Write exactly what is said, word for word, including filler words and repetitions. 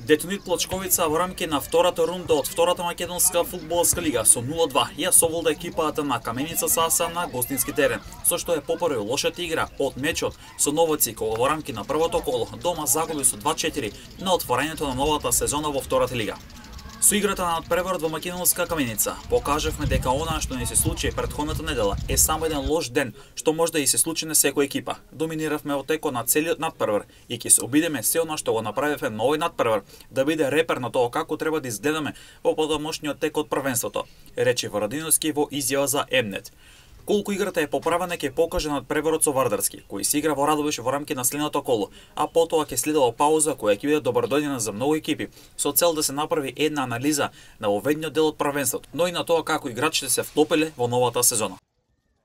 Детонит Плачковица во рамки на втората рунда од втората македонска фудбалска лига со нула два ја соволда екипата на Каменица Саса на гостински терен, со што е поправил лошата игра од мечот со Новаци, кога во рамки на првото коло дома загуби со два четири на отворањето на новата сезона во втората лига. Со играта на надпреварот во македонска Каменица покажавме дека она што ни се случи претходната недела е само еден лош ден што може да и се случи на секоја екипа. Доминиравме во текот на целиот надпревар и ќе се обидеме се она што го направивме на овој надпревар да биде репер на тоа како треба да изгледаме во подомошниот тек од првенството, рече Варадиновски во изјава за Емнет. Колку играта е поправена ќе покаже надпреварот со Вардарски, кој се игра во Радовиш во рамки на следното коло, а потоа ќе следела пауза која ќе биде добродојдена за многу екипи, со цел да се направи една анализа на оведниот дел од првенството, но и на тоа како играчите се вклопиле во новата сезона.